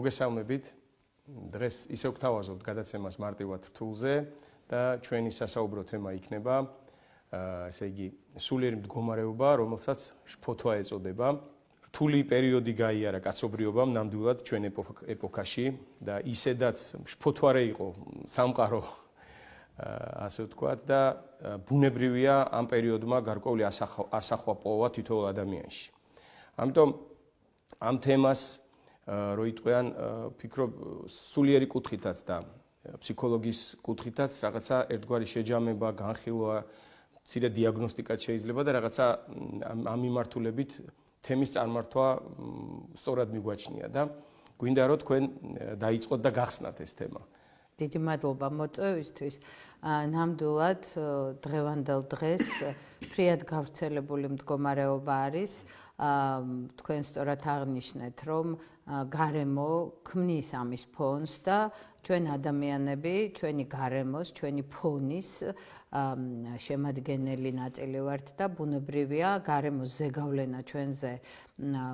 მოგესალმებით. დღეს ისევ გვთავაზობთ გადაცემას მარტივად რთულზე და ჩვენი სასაუბრო თემა იქნება ესე იგი სულიერი მდგომარეობა, რომელსაც შფოთვა ეწოდება. რთული პერიოდი გაიარა კაცობრიობამ ნამდვილად ჩვენ ეპოქაში და ისედაც შფოთვარე იყო სამყარო ასე ვთქვათ და ბუნებრივია ამ პერიოდმა გარკვეული ასახვა პოვა თითოეულ ადამიანში. ამიტომ ამ თემას რო იტყვიან, ფიქრობ სულიერი კუთხითაც და ფსიქოლოგის კუთხითაც რაღაცა ერთგვარი შეჯამება, განხილვა, მცირე დიაგნოსტიკაც შეიძლება და რაღაცა ამ მიმართულებით თემის წარმართვა სწორად მიგვაჩნია და გვინდა რომ თქვენ დაიწყოთ და გახსნათ ეს თემა. დიდი მადლობა მოწვევისთვის. ნამდვილად დღევანდელ დღეს ფრიად გავრცელებული მდგომარეობა არის. თქვენ სწორად აღნიშნეთ, რომ გარემო ქმნის ამის ფონს და ჩვენ ადამიანები, ჩვენი გარემოს, ჩვენი ფონის შემადგენელი ნაწილი ვართ და ბუნებრივია გარემოს ზეგავლენა ჩვენზე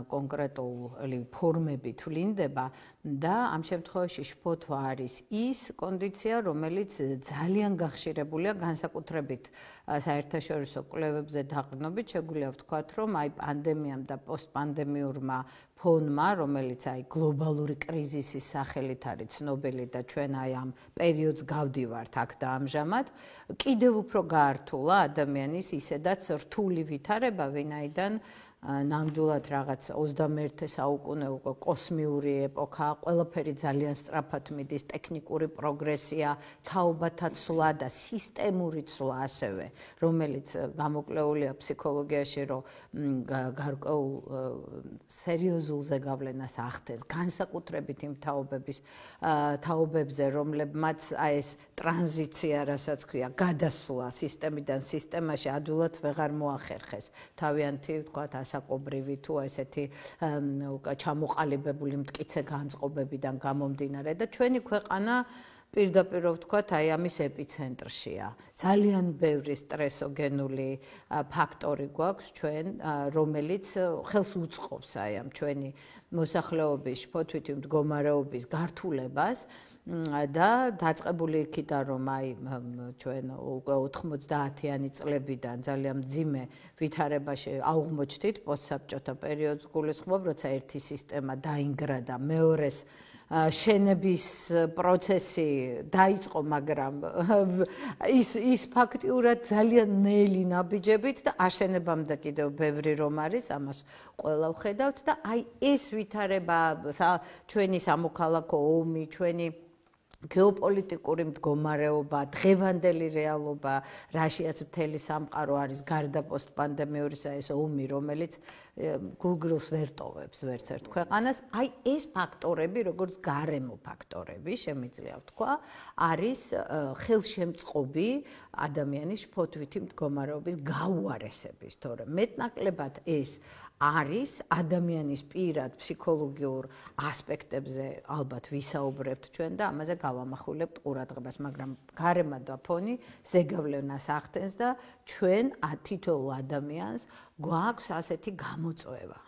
კონკრეტული ფორმებით ვლინდება და ამ შემთხვევაში შფოთვა არის ის კონდიცია, რომელიც ძალიან გახშირებულია განსაკუთრებით საერთაშორისო კვლევებზე დაყრდნობით შეგვიძლია ვთქვათ, რომ აი პანდემიამ და პოსტპანდემიურმა ფონმა, რომელიც აი გლობალური კრიზისის სახელით არის ცნობილი და ჩვენ აი ამ პერიოდს გავდივართ აქ და ამჟამად, კიდევ უფრო გაართულა ადამიანის ისედაც რთული ვითარება, ვინაიდან ნამდვილად რაღაც 21 საუკუნე უკვე კოსმიური ეპოქა, ყველაფერი ძალიან სწრაფად მიდის, ტექნიკური პროგრესია, თაობათა ცვლა და სისტემური ცვლა ასევე, რომელიც გამოკლეულია ფსიქოლოგიაში, რომ გარკვეულ სერიოზულ ზეგავლენას ახდენს, განსაკუთრებით იმ თაობებზე, რომლებმაც აი ეს ტრანზიცია, რასაც ქვია, გადასვლა სისტემიდან სისტემაში ადვილად ვეღარ მოახერხეს. თავიანთი, ვთქვათ, საკობრივი თუ ესეთი ჩამოყალიბებული მტკიცე განწყობებიდან გამომდინარე და ჩვენი ქვეყანა პირდაპირ ვთქვათ, აი ამის ეპიცენტრშია. ძალიან ბევრი სტრესოგენული ფაქტორი გვაქვს ჩვენ, რომელიც ხელს უწყობს აი ამ ჩვენი მოსახლეობის შფოთვითი მდგომარეობის გართულებას და დაწყებული იქიდან რომ აი ჩვენ უკვე 90-იანი წლებიდან ძალიან მძიმე ვითარებაში აღმოჩნდით პოსტსაბჭოთა პერიოდს გულისხმობ, როცა ერთი სისტემა დაინგრა და მეორეს შენების პროცესი დაიწყო, მაგრამ ის ფაქტიურად ძალიან ნელი ნაბიჯებით და აშენებამდე კიდევ ბევრი რომ არის, ამას ყველა ვხედავთ და აი ეს ვითარება, ჩვენი სამოქალაქო ომი, ჩვენი გეოპოლიტიკური მდგომარეობა, დღევანდელი რეალობა, რაშიაც მთელი სამყარო არის გარდა პოსტპანდემიურისა ეს ომი, რომელიც გულგრილს ვერ ტოვებს ვერც ერთ ქვეყანას. აი ეს ფაქტორები, როგორც გარემო ფაქტორები, შემიძლია ვთქვა, არის ხელშემწყობი ადამიანის შფოთვითი მდგომარეობის გაუარესების, თორემ მეტნაკლებად ეს არის ადამიანის პირად ფსიქოლოგიურ ასპექტებზე ალბათ ვისაუბრებთ ჩვენ და ამაზე გავამახვილებთ ყურადღებას, მაგრამ გარემო და ფონი ზეგავლენას ახდენს და ჩვენ თითოეულ ადამიანს გვაქვს ასეთი გამოწვევა,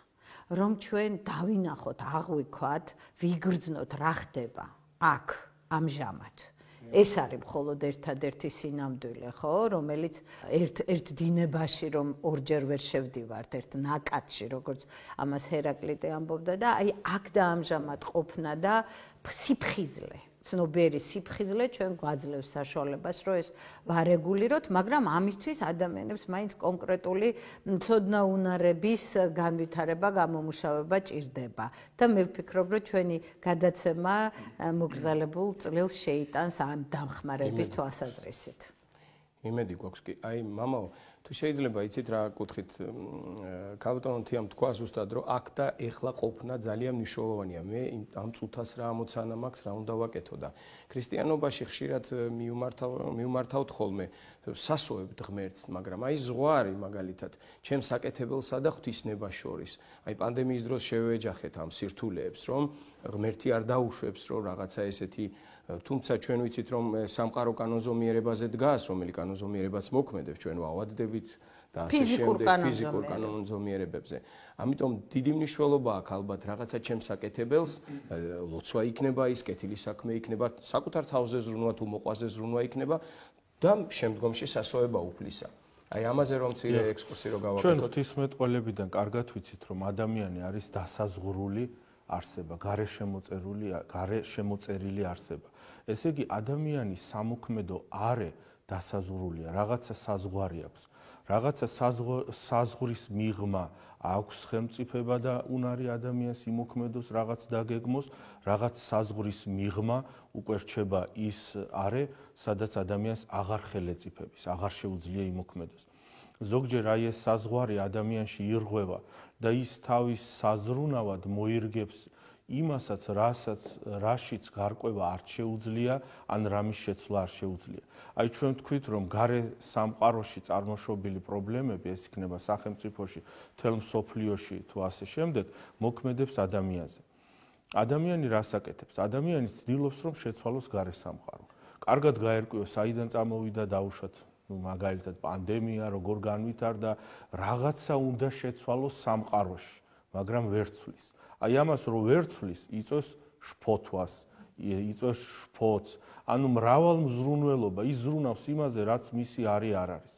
რომ ჩვენ დავინახოთ, აღვიქვათ, ვიგრძნოთ რა ხდება აქ ამჟამად. ეს არის მხოლოდ ერთადერთი სინამდვილე, ხო, რომელიც ერთ დინებაში რომ ორჯერ ვერ შევდივართ, ერთ ნაკადში, როგორც ამას ჰერაკლიტე ამბობდა და აი აქ და ამჟამად ყოფნა და სიფხიზლე, ცნობიერი სიფხიზლე ჩვენ გვაძლევს საშუალებას, რომ ეს ვარეგულიროთ, მაგრამ ამისთვის ადამიანებს მაინც კონკრეტული მცოდნაუნარების განვითარება, გამომუშავება ჭირდება. და მე ვფიქრობ, რომ ჩვენი გადაცემა მოგზალებულ წლილს შეიტანს ამ დამხმარების თვალსაზრისით. იმედი გვაქვს კი. აი, მამაო, თუ შეიძლება იცით რა კუთხით კაპიტან თიამ თქვა ზუსტად, რომ აქ და ეხლა ყოფნა ძალიან მნიშვნელოვანია. მე ამ წუთას რა ამოცანა მაქვს, რა უნდა ვაკეთო და ქრისტიანობაში ხშირად მიუმართავთ ხოლმე სასოებთ ღმერთს, მაგრამ აი ზღვარი მაგალითად, ჩემს საკეთებელსა და ღვთისნებას შორის. აი პანდემიის დროს შევეჯახეთ ამ სირთულეებს, რომ ღმერთი არ დაუშვებს, რომ რაღაცა ესეთი, თუმცა ჩვენ ვიცით, რომ სამყარო კანონზომიერებაზე დგას, რომელი კანონზომიერებაც მოქმედებს, ჩვენ ვავადდებით და ასე შემდეგ ფიზიკურ კანონზომიერებებზე. ამიტომ დიდი მნიშვნელობა აქვს ალბათ რაღაცა ჩემს საკეთებელს, ლოცვა იქნება ის, კეთილი საქმე იქნება, საკუთარ თავზე ზრუნვა თუ მოყვაზე ზრუნვა იქნება და შემდგომში სასოება უფლისა. აი ამაზე რომ ცირე ექსკურსი რო გავაკეთოთ. ჩვენ ღვთისმეტყველებიდან კარგად ვიცით, რომ ადამიანი არის დასაზღვრული არსება, გარე შემოწერილი არსება. ესე იგი ადამიანის სამოქმედო არე დასაზღვრულია, რაღაცა საზღვარი აქვს. რაღაცა საზღვრის მიღმა აქვს ხელმწიფება და უნარი ადამიანს იმოქმედოს რაღაც დაგეგმოს, რაღაც საზღვრის მიღმა უკვე რჩება ის არე, სადაც ადამიანს აღარ ხელეწიფების, აღარ შეუძლია იმოქმედოს. ზოგჯერ აი ეს საზღვარი ადამიანში ირღვევა და ის თავის საზრუნავად მოირგებს იმასაც, რაშიც გარკვევა არ შეუძლია, ან რამის შეცვლა არ შეუძლია. აი ჩვენ ვთქვით, რომ გარე სამყაროში წარმოშობილი პრობლემები, ეს იქნება სახელმწიფოში, მთელ მსოფლიოში თუ ასე შემდეგ, მოქმედებს ადამიანზე. ადამიანი რას აკეთებს? ადამიანი ცდილობს, რომ შეცვალოს გარე სამყარო. კარგად გაერკვიოს, საიდან წამოვიდა დაუშვათ, მაგალითად პანდემია, როგორ განვითარდა, რაღაცა უნდა შეცვალოს სამყაროში, მაგრამ ვერ ცვლის. აი ამას რო ვერ ცვლის, იწვევს შფოთვას, იწვევს შფოთს, ანუ მრავალ მზრუნველობა, ის ზრუნავს იმაზე, რაც მისი არი არ არის.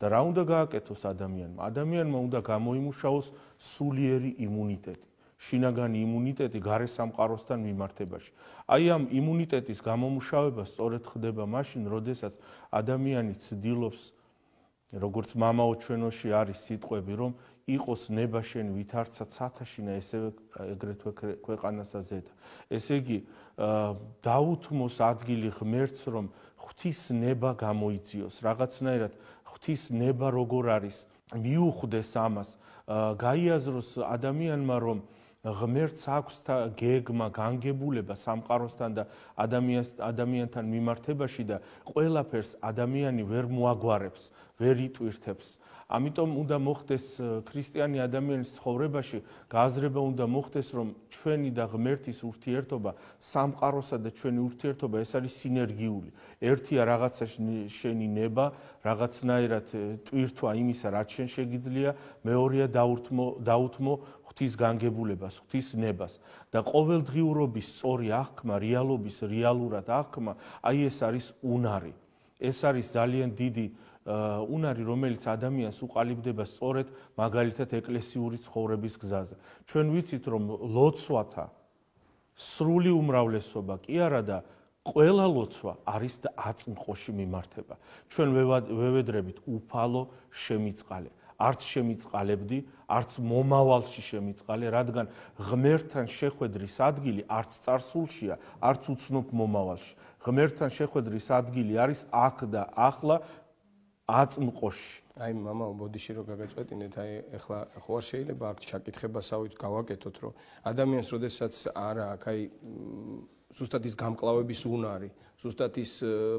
და რა უნდა გააკეთოს ადამიანმა? ადამიანმა უნდა გამოიმუშაოს სულიერი იმუნიტეტი, შინაგანი იმუნიტეტი გარე სამყაროსთან მიმართებაში. აი ამ იმუნიტეტის გამომუშავება სწორედ ხდება მაშინ, როდესაც ადამიანი ცდილობს, როგორც მამაო ჩვენოში არის სიტყვები, რომ იყოს ნება შენ ვითარცა ცათაშინა, ესევე ეგრეთვე ქვეყანასა ზედა. ესე იგი, დაუთმოს ადგილი ღმერთს, რომ ღვთის ნება გამოიძიოს, რაღაცნაირად ღვთის ნება როგორ არის, მიუხვდეს ამას, გაიაზროს ადამიანმა, რომ ღმერთს აქვს გეგმა, განგებულება სამყაროსთან და ადამიანთან მიმართებაში და ყველაფერს ადამიანი ვერ მოაგვარებს, ვერ იტვირთებს. ამიტომ უნდა მოხდეს ქრისტიანი ადამიანის ცხოვრებაში გააზრება უნდა მოხდეს, რომ ჩვენი და ღმერთის ურთიერთობა, სამყაროსა და ჩვენი ურთიერთობა ეს არის სინერგიული. ერთია რაღაცა შენი ნება, რაღაცნაირად ტვირთვა იმისა, რაც შენ შეგიძლია, მეორეა დაუთმო ღვთის განგებულებას, ღვთის ნებას და ყოველდღიურობის სწორი აღქმა, რეალობის რეალურად აღქმა, აი ეს არის უნარი. ეს არის ძალიან დიდი უნარი, რომელიც ადამიანს უყალიბდება სწორედ მაგალითად ეკლესიური ცხოვრების გზაზე. ჩვენ ვიცით, რომ ლოცვათა სრული უმრავლესობა კი არა და ყველა ლოცვა არის და აწმყოში მიმართება. ჩვენ ვევედრებით უფალო შემიწყალე. არც შემიწყალებდი, არც მომავალში შემიწყალე, რადგან ღმერთთან შეხვედრის ადგილი არც წარსულშია, არც უცნობ მომავალში. ღმერთთან შეხვედრის ადგილი არის აქ და ახლა აწმყოში. აი მამა ბოდიში რო გაგაწყვეტინეთ, აი ეხლა ხო არ შეიძლება აქ ჩაკითხებასავით გავაკეთოთ, რომ ადამიანს როდესაც არა აქ აი ზუსტად ის გამკლავების უნარი, ზუსტად ის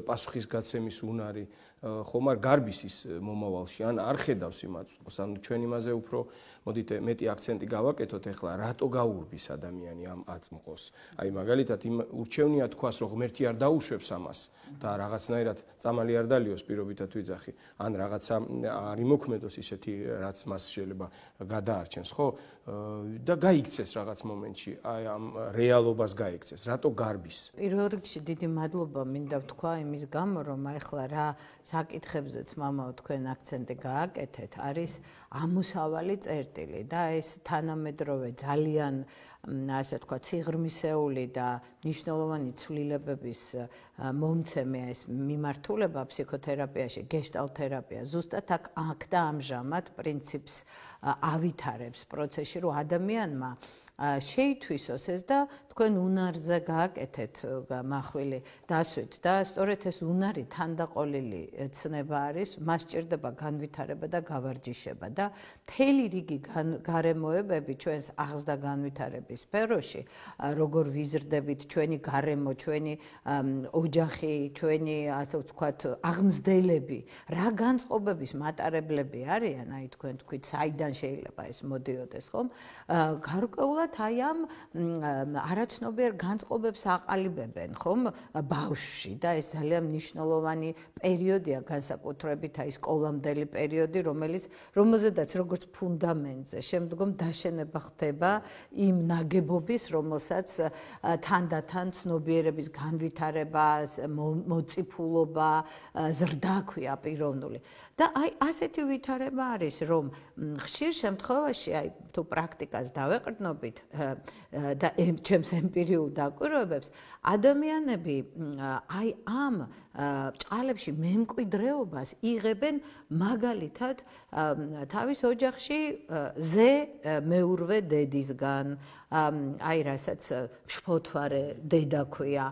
პასუხისგაცემის უნარი, ხომ არ გარბის ის მომავალში, ან არ ხედავს იმას, ან ჩვენ იმაზე უფრო მოდით მეტი აქცენტი გავაკეთოთ ეხლა, რატო გაურბის ადამიანი ამ აწმყოს. აი მაგალითად იმ ურჩევნია თქვას, რომ ღმერთი არ დაუშვებს ამას და რაღაცნაირად წამალი არ დალიოს პირობითად ვიძახი, ან რაღაცა არ იმოქმედოს ისეთი, რაც მას შეიძლება გადაარჩენს, ხო? და გაიქცეს რაღაც მომენტში, აი ამ რეალობას გაიქცეს. რატო გარბის? პირველ რიგში დიდი მადლობა მინდა ვთქვა იმის გამო, რომ ახლა რა საკითხებზეც მამაო თქვენ აქცენტი გააკეთეთ, არის ამოსავალი წერტილი და ეს თანამედროვე ძალიან ასე თქვა ციღრმისეული და მნიშვნელოვანი ცვლილებების მომცემია ეს მიმართულება ფსიქოთერაპიაში, გეშტალტ-თერაპია. ზუსტად აქ და ამჟამად პრინციპს ავითარებს პროცესში, რომ ადამიანმა შეითვისოს ეს და თქვენ უნარზე გააკეთეთ მახვილი დასვით და სწორედ ეს უნარი თანდაყოლილი ცნება არის, მას სჭირდება განვითარება და გავარჯიშება და მთელი რიგი გარემოებები ჩვენს აღზრდა განვითარების განვითარების სფეროში, როგორ ვიზრდებით ჩვენი გარემო, ჩვენი ოჯახი, ჩვენი ასე ვთქვათ, აღმზრდელები, რა განწყობების მატარებლები არიან, აი თქვენ თქვით, საიდან შეიძლება ეს მოდიოდეს, ხომ? გარკვეულად აი ამ არაცნობიერ განწყობებს აყალიბებენ, ხომ? ბავშვში და ეს ძალიან მნიშვნელოვანი პერიოდია განსაკუთრებით აი სკოლამდელი პერიოდი, რომელზედაც როგორც ფუნდამენტზე შემდგომ დაშენება ხდება იმ ნაგებობის, რომელსაც თანდათან ცნობიერების განვითარება, მოციფულობა, ზრდა ქვია პიროვნული. და აი ასეთი ვითარება არის, რომ ხშირ შემთხვევაში აი თუ პრაქტიკას დავეყრდნობით და ჩემს ემპირიულ დაკვირვებებს, ადამიანები აი ამ ჭყალებში მემკვიდრეობას იღებენ მაგალითად თავის ოჯახში ზე მეურვე დედისგან, აი რასაც შფოთვარე დედა ქვია.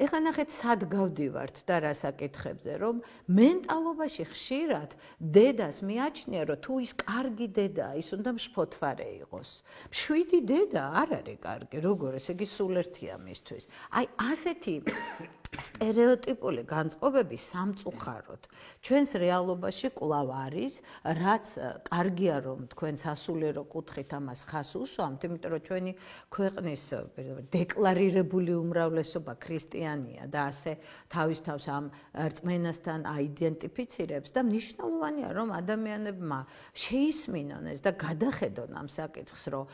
ეხლა ნახეთ სად გავდივართ და რა საკითხებზე, რომ მენტალობაში ხშირად დედას მიაჩნია, რომ თუ ის კარგი დედაა, ის უნდა შფოთვარე იყოს. მშვიდი დედა არ არის კარგი, როგორ ესე იგი სულ ერთია მისთვის. აი ასეთი სტერეოტიპული განწყობები სამწუხაროდ ჩვენს რეალობაში კვლავ არის, რაც კარგია რომ თქვენ სასულიერო კუთხით ამას ხას უსვამთ, იმიტომ რომ ჩვენი ქვეყნის დეკლარირებული უმრავლესობა ქრისტიანია და ასე თავის თავს ამ რწმენასთან აიდენტიფიცირებს და მნიშვნელოვანია რომ ადამიანებმა შეისმინონ ეს და გადახედონ ამ საკითხს, რომ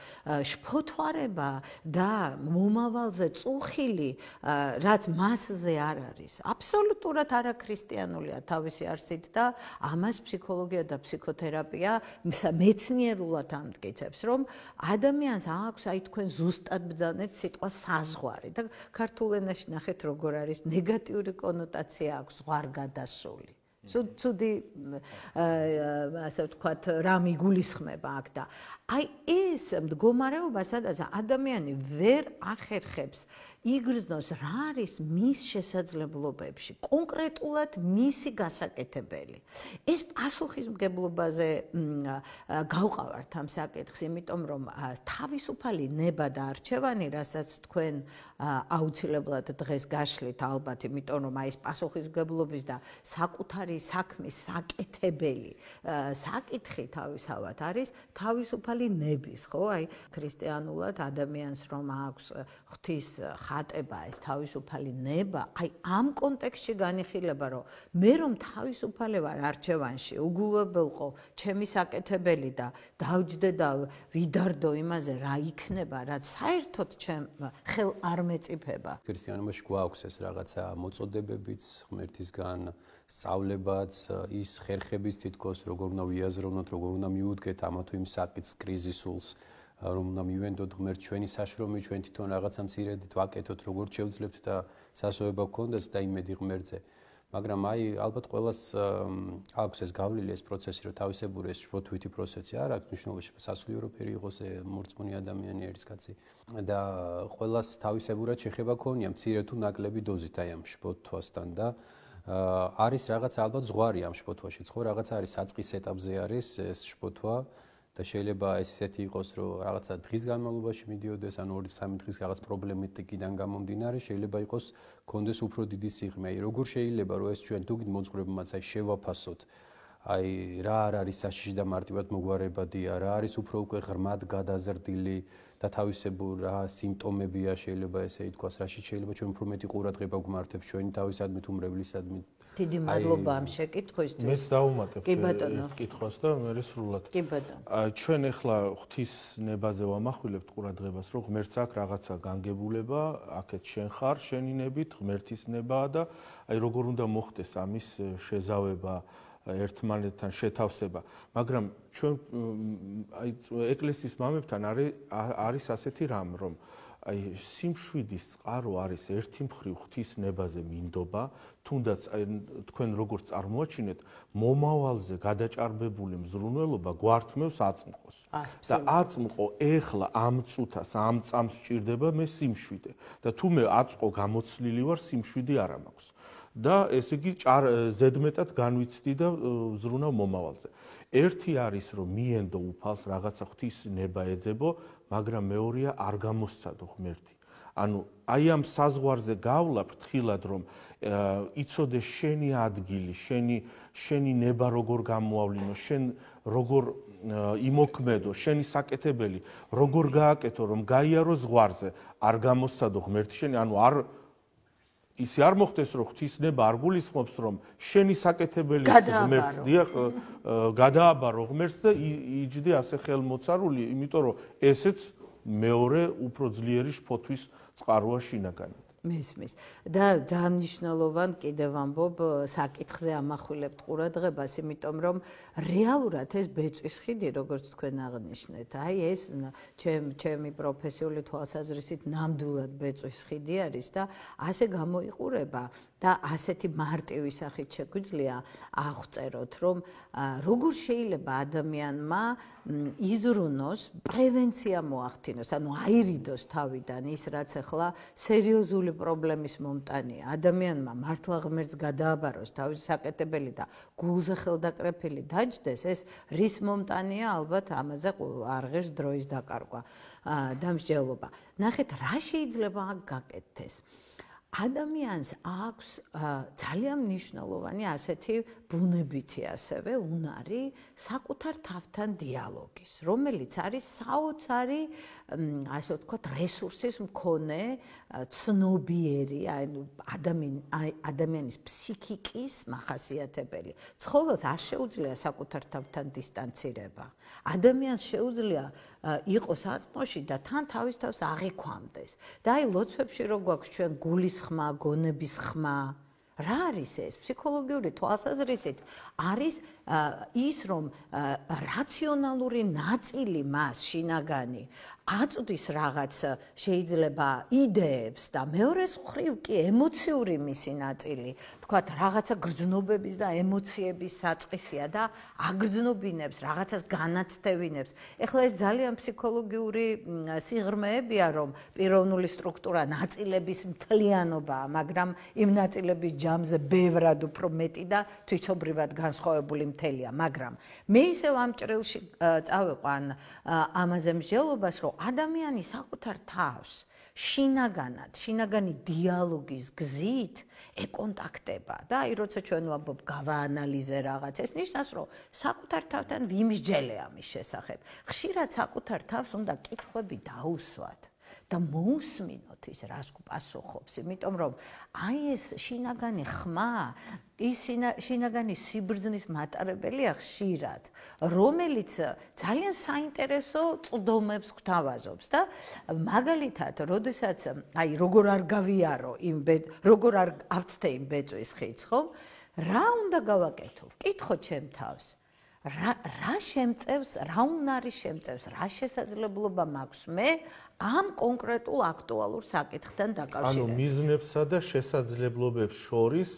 შფოთვარება და მომავალზე წუხილი, რაც მასზე არ არის. აბსოლუტურად არაქრისტიანულია თავისი არსით და ამას ფსიქოლოგია და ფსიქოთერაპია მეცნიერულად ამტკიცებს, რომ ადამიანს აქვს აი თქვენ ზუსტად ბრძანეთ სიტყვა საზღვარი და ქართულ ენაში ნახეთ როგორ არის ნეგატიური კონოტაცია აქვს ზღვარგადასული. ცუდი ასე ვთქვათ, რამ იგულისხმება აქ და აი ეს მდგომარეობა, სადაც ადამიანი ვერ ახერხებს იგრძნოს რა არის მის შესაძლებლობებში, კონკრეტულად მისი გასაკეთებელი. ეს პასუხისმგებლობაზე გავყავართ ამ საკითხს, იმიტომ რომ თავისუფალი ნება და არჩევანი, რასაც თქვენ აუცილებლად დღეს გაშლით ალბათ, იმიტომ რომ აი ეს პასუხისმგებლობის და საკუთარი საქმის საკეთებელი საკითხი თავისავად არის თავისუფალი ნების, ხო? აი ქრისტიანულად ადამიანს რომ აქვს ღვთის ხატება, ეს თავისუფალი ნება, აი ამ კონტექსტში განიხილება, რომ მე რომ თავისუფალი ვარ არჩევანში, უგულებელყო ჩემი საკეთებელი და დავჯდე და ვიდარდო იმაზე რა იქნება, რაც საერთოდ ჩემ ხელ არ მეწიფება. ქრისტიანობაში გვაქვს ეს რაღაცა მოწოდებებიც ღმერთისგან, სწავლებაც, ის ხერხების თითქოს როგორ უნდა ვიაზროვნოთ, როგორ უნდა მიუდგეთ ამა თუ იმ საკითხს, კრიზისულს, რომ უნდა მივენდოთ ღმერთს ჩვენი საშრომი, ჩვენ თვითონ რაღაცა მცირედით ვაკეთოთ, როგორც შევძლებთ და სასოება გქონდეს და იმედი ღმერთზე. მაგრამ აი ალბათ ყველას აქვს ეს გავლილი, ეს პროცესი, რომ თავისებური ეს შფოთვითი პროცესი არ აქვს, მნიშვნელობაში სასულიერო ფერი იყოს მორწმუნე ადამიანი არის კაცი და ყველას თავისებურად შეხება ქონია მცირე თუ ნაკლები დოზით აი ამ შფოთვასთან და არის რაღაც ალბათ ზღვარი ამ შფოთვაში, ხო, რაღაც არის საწყის ეტაპზე არის ეს შფოთვა და შეიძლება ეს ისეთი იყოს, რომ რაღაცა დღის განმავლობაში მიდიოდეს, ან 2-3 დღის რაღაც პრობლემატიკიდან გამომდინარე, შეიძლება იყოს კონდეს უფრო დიდი სიღრმე. აი როგორ შეიძლება რომ ეს ჩვენ თუ მოძღვრებმაც აი შევაფასოთ, აი რა არ არის საშიში და მარტივად მოგვარებადია, რა არის უფრო უკვე ღრმად გადაზრდილი და თავისებურ რა სიმპტომებია შეიძლება ესე ითქვას, რაში შეიძლება ჩვენ უფრო მეტი ყურადღება გვმართებს ჩვენი თავისადმი თუ მრევლისადმი. დიდი მადლობა ამ შეკითხვისთვის. მეც დავუმატებ კითხვას და მე სრულად. კი ბატონო. ჩვენ ახლა ღვთის ნებაზე ვამახვილებთ ყურადღებას, რომ ღმერთს აქვს რაღაცა განგებულება, აქეთ შენ ხარ, შენი ნებით, ღმერთის ნებაა და აი როგორ უნდა მოხდეს ამის შეზავება ერთმანეთთან შეთავსება, მაგრამ ჩვენ აი ეკლესიის მამებთან არის ასეთი რამ, რომ აი სიმშვიდის წყარო არის ერთი მხრივ ღვთის ნებაზე მინდობა, თუნდაც აი თქვენ როგორც წარმოაჩინეთ, მომავალზე გადაჭარბებული მზრუნველობა გვართმევს აწმყოს. და აწმყო ეხლა ამ წუთას, ამ წამს სჭირდება მე სიმშვიდე და თუ მე აწყო გამოცლილი ვარ, სიმშვიდე არ მაქვს. და ესე იგი ზედმეტად განვიცდი და ვზრუნავ მომავალზე. ერთი არის რომ მიენდო უფალს რაღაცა ღვთის ნება ეძებო, მაგრამ მეორეა არ გამოსცადო ღმერთი. ანუ აი ამ საზღვარზე გავლა ფრთხილად რომ იცოდე შენი ადგილი, შენი ნება როგორ გამოავლინო, შენ როგორ იმოქმედო, შენი საკეთებელი როგორ გააკეთო, რომ გაიარო ზღვარზე, არ გამოსცადო ღმერთი შენი, ანუ ისე არ მოხდეს რომ ღვთისნება არ გულისხმობს რომ შენი საკეთებელი ღმერთს დიახ გადააბარო ღმერთს და იჯდე ასე ხელმოცარული, იმიტომ რომ ესეც მეორე უფრო ძლიერი შფოთვის წყაროა შინაგანად. მისმის და ძალიან მნიშვნელოვან კიდევ ამბობ საკითხზე ამახვილებთ ყურადღებას, იმიტომ რომ რეალურად ეს ბეწვის ხიდი, როგორც თქვენ აღნიშნეთ, აი ეს ჩემი პროფესიული თვალსაზრისით ნამდვილად ბეწვის ხიდი არის და ასე გამოიყურება და ასეთი მარტივი სახით შეგვიძლია აღწეროთ, რომ როგორ შეიძლება ადამიანმა იზრუნოს, პრევენცია მოახდინოს, ანუ აირიდოს თავიდან ის, რაც ახლა სერიოზული პრობლემის მომტანია. ადამიანმა მართლა ღმერთს გადააბაროს თავისი საკეთებელი და გულზე ხელდაკრეფილი დაჯდეს, ეს რის მომტანია, ალბათ ამაზე არ ღირს დროის დაკარგვა, დამსჯელობა. ნახეთ, რა შეიძლება გაკეთდეს? ადამიანს აქვს ძალიან მნიშვნელოვანი ასეთი ბუნებითი ასევე უნარი საკუთარ თავთან დიალოგის, რომელიც არის საოცარი, ასე ვთქვათ, რესურსის მქონე, ცნობიერი, ადამიანის ფსიქიკის მახასიათებელი. ცხოველს არ შეუძლია საკუთარ თავთან დისტანცირება. ადამიანს შეუძლია იყოს აწმოში და თან თავის თავს აღიქვამდეს. და აი ლოცვებში რო გვაქვს ჩვენ გულის ხმა, გონების ხმა, რა არის ეს? ფსიქოლოგიური თვალსაზრისით არის ის, რომ რაციონალური ნაწილი მას შინაგანი აწვდის რაღაც შეიძლება იდეებს და მეორეს მხრივ კი ემოციური მისი ნაწილი, თქვათ, რაღაცა გრძნობების და ემოციების საწყისია და აგრძნობინებს, რაღაცას განაცდევინებს. ეხლა ეს ძალიან ფსიქოლოგიური სიღრმეებია, რომ პიროვნული სტრუქტურა ნაწილების მთლიანობაა, მაგრამ იმ ნაწილების ჯამზე ბევრად უფრო მეტი და თვითობრივად განსხვავებული მთელია, მაგრამ მე ისევ ამ ჭრილში წავიყვან ამაზე მსჯელობას, რომ ადამიანი საკუთარ თავს შინაგანი დიალოგის გზით ეკონტაქტება და აი როცა ჩვენ ვამბობ გავაანალიზე რაღაც, ეს ნიშნავს, რომ საკუთარ თავთან ვიმსჯელე ამის შესახებ. ხშირად საკუთარ თავს უნდა კითხვები დაუსვათ და მოусმინოთ ის, რას გპასუხობს, იმიტომ რომ აი ეს შინაგანი ხმა, ის შინაგანი სიბრძნის მატარებელია ხშირად, რომელიც ძალიან საინტერესო წვდომებს გვთავაზობს და მაგალითად, როდესაც აი როგორ არ გავიარო როგორ არ ავწთე იმ ბეწვის ხიდს, ხო? რა უნდა გავაკეთო? ვკითხო ჩემ თავს. რა შემწევს, რა უნარი შემწევს, რა შესაძლებლობა მაქვს მე ამ კონკრეტულ აქტუალურ საკითხთან დაკავშირებით. ანუ მიზნებსა და შესაძლებლობებს შორის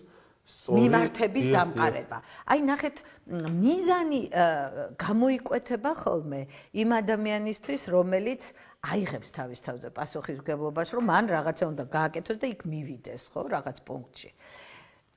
მიმართების დამყარება. აი ნახეთ, მიზანი გამოიკვეთება ხოლმე იმ ადამიანისთვის, რომელიც აიღებს თავის თავზე პასუხისმგებლობას, რომ მან რაღაცა უნდა გააკეთოს და იქ მივიდეს, ხო, რაღაც პუნქტში.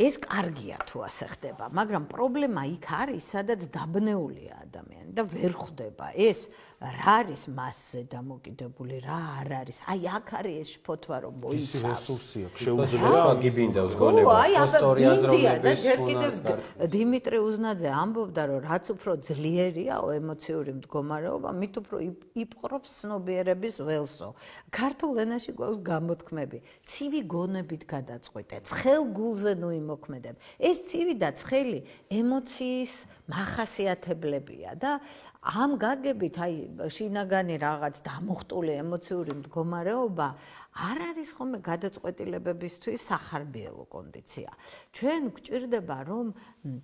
ეს კარგია თუ ასე ხდება, მაგრამ პრობლემა იქ არის, სადაც დაბნეულია ადამიანი და ვერ ხვდება ეს რა არის მასზე დამოკიდებული, რა არ არის. აი აქ არის ეს შფოთვა, რომ მოიცავს. ის რესურსია, შეუძლია გიბინდავს გონებას, სწორი აზროვნების უნდა. დიმიტრი უზნაძე ამბობდა, რომ რაც უფრო ძლიერია ემოციური მდგომარეობა, მით უფრო იპყრობს ცნობიერების ველსო. ქართულ ენაში გვაქვს გამოთქმები: ცივი გონებით გადაწყვეტე, ცხელ გულზე ნუ იმოქმედებ. ეს ცივი და ცხელი ემოციის მახასიათებლებია და ამ გაგებით აი შინაგანი რაღაც დამუხტული ემოციური მდგომარეობა არ არის ხოლმე გადაწყვეტილებებისთვის სახარბიელო კონდიცია. ჩვენ გვჭირდება რომ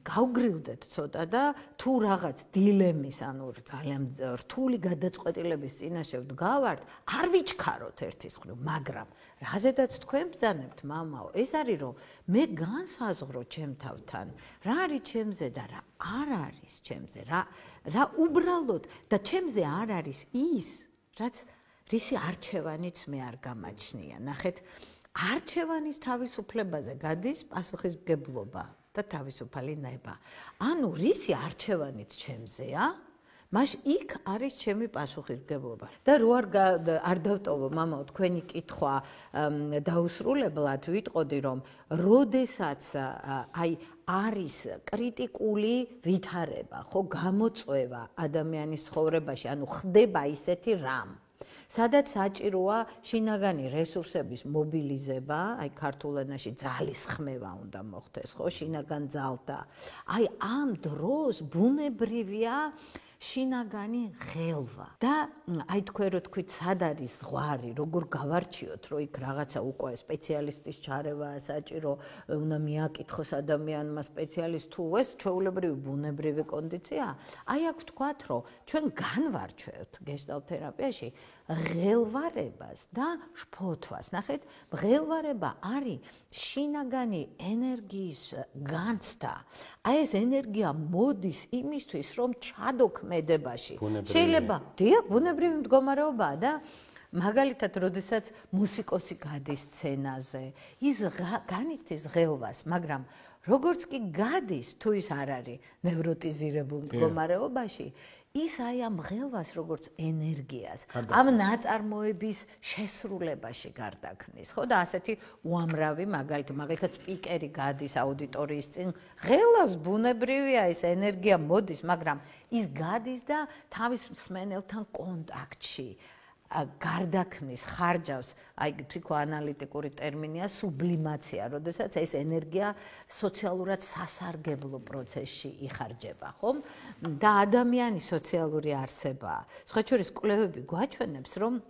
გავგრილდეთ ცოტა და თუ რაღაც დილემის, ანუ ძალიან რთული გადაწყვეტილების წინაშე ვდგავართ, არ ვიჩქაროთ ერთის მხრივ, მაგრამ რაზედაც თქვენ ბრძანებთ, მამაო, ეს არის რომ მე განსაზღვრო ჩემ თავთან, რა არის ჩემზე და რა არ არის ჩემზე, რა უბრალოდ და ჩემზე არ არის ის, რაც რისი არჩევანიც მე არ გამაჩნია. ნახეთ, არჩევანის თავისუფლებაზე გადის პასუხისმგებლობა და თავისუფალი ნება. ანუ რისი არჩევანიც ჩემზეა, მაშ იქ არის ჩემი პასუხისმგებლობა. და რო არ დავტოვო მამაო თქვენი კითხვა დაუსრულებლად ვიტყოდი რომ როდესაც აი არის კრიტიკული ვითარება, ხო გამოწვევა ადამიანის ცხოვრებაში, ანუ ხდება ისეთი რამ სადაც საჭიროა შინაგანი რესურსების მობილიზება, აი ქართულ ენაში ძალის ხმევა უნდა მოხდეს, ხო, შინაგან ძალთა. აი ამ დროს ბუნებრივია შინაგანი ღელვა და აი თქვენ რო თქვით სად არის ზღვარი, როგორ გავარჩიოთ, რომ იქ რაღაცა უკვე სპეციალისტის ჩარევა საჭირო, უნდა მიაკითხოს ადამიანმა სპეციალისტ თუ ეს ჩვეულებრივი ბუნებრივი კონდიცია. აი აქ ვთქვათ, რომ ჩვენ განვარჩევთ გეშტალტ თერაპიაში ღელვარებას და შფოთვას. ნახეთ, ღელვარება არის შინაგანი ენერგიის განცდა. აი ეს ენერგია მოდის იმისთვის, რომ ჩადოქმედებაში. შეიძლება, დიახ, ბუნებრივი მდგომარეობაა და მაგალითად, როდესაც მუსიკოსი გადის სცენაზე, ის განიცდის ღელვას, მაგრამ როგორც კი გადის, თუ ის არ არის ნევროტიზირებულ მდგომარეობაში, ის აი ამ ღელვას როგორც ენერგიას, ამ ნაწარმოების შესრულებაში გარდაქმნის, ხო და ასეთი უამრავი მაგალითად სპიკერი გადის აუდიტორიის წინ, ღელავს ბუნებრივია ეს ენერგია მოდის, მაგრამ ის გადის და თავის მსმენელთან კონტაქტში გარდაქმნის, ხარჯავს, აი ფსიქოანალიტიკური ტერმინია სუბლიმაცია, როდესაც ეს ენერგია სოციალურად სასარგებლო პროცესში იხარჯება, ხომ? და ადამიანი სოციალური არსებაა. სხვაჩვერის კვლევები გვაჩვენებს, რომ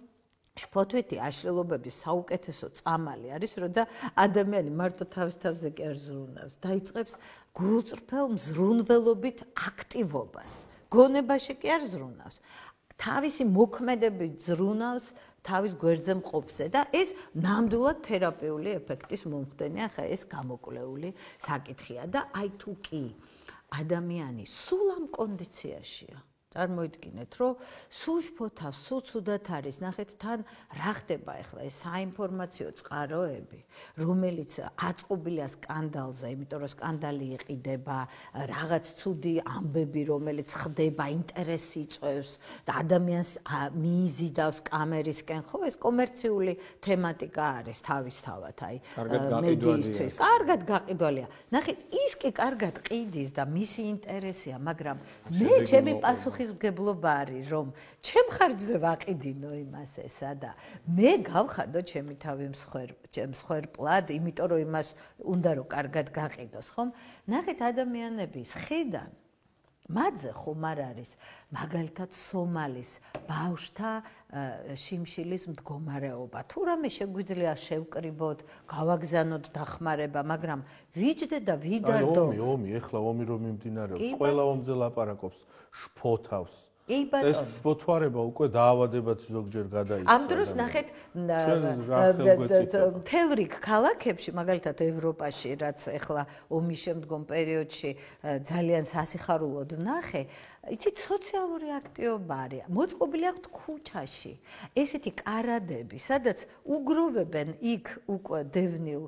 შფოთვითი აშლილობების საუკეთესო წამალი არის, როცა ადამიანი მარტო თავის თავზე კი არ ზრუნავს, დაიწყებს გულწრფელ მზრუნველობით აქტივობას. გონებაში კი არ ზრუნავს. თავისი მოქმედებით ზრუნავს თავის გვერდზე მყოფზე და ეს ნამდვილად თერაპიული ეფექტის მომხდენია, ხა ეს გამოკვლეული საკითხია და აი თუ კი ადამიანი სულ ამ კონდიციაშია, წარმოიდგინეთ, რომ სულ შფოთავს, სულ ცუდად არის, ნახეთ თან რა ხდება ახლა ეს საინფორმაციო წყაროები, რომელიც აწყობილია სკანდალზე, იმიტომ რომ სკანდალი იყიდება, რაღაც ცუდი ამბები, რომელიც ხდება, ინტერესი იწვევს და ადამიანს მიიზიდავს კამერისკენ, ხო, ეს კომერციული თემატიკა არის თავისთავად, აი მედიისთვის. კარგად გაყიდვალია. ნახეთ, ის კი კარგად ყიდის და მისი ინტერესია, მაგრამ მე ჩემი პასუხისმგებლობა არის, რომ ჩემ ხარჯზე ვაყიდინო იმას ესა და მე გავხადო ჩემი თავი მსხვერპლად, იმიტომ რომ იმას უნდა რომ კარგად გაყიდოს, ხომ? ნახეთ ადამიანების ხედან მათზე ხომ არ არის მაგალითად სომალის ბავშთა შიმშილის მდგომარეობა. თუ რამე შეგვიძლია შევკრიბოთ, გავაგზავნოთ დახმარება, მაგრამ ვიჯდე და ვიდარდო. აი ომი, ეხლა ომი რომ მიმდინარეობს, ყველა ომზე ლაპარაკობს, შფოთავს. ეს შფოთვარება უკვე დაავადებად ზოგჯერ გადაიქცა. ამ დროს ნახეთ მთელ რიგ ქალაქებში, მაგალითად ევროპაში, რაც ეხლა ომის შემდგომ პერიოდში ძალიან სასიხარულოდ ვნახე, იცით სოციალური აქტივობა არის. მოწყობილი აქვთ ქუჩაში. ესეთი კარადები, სადაც უგროვებენ იქ უკვე დევნილ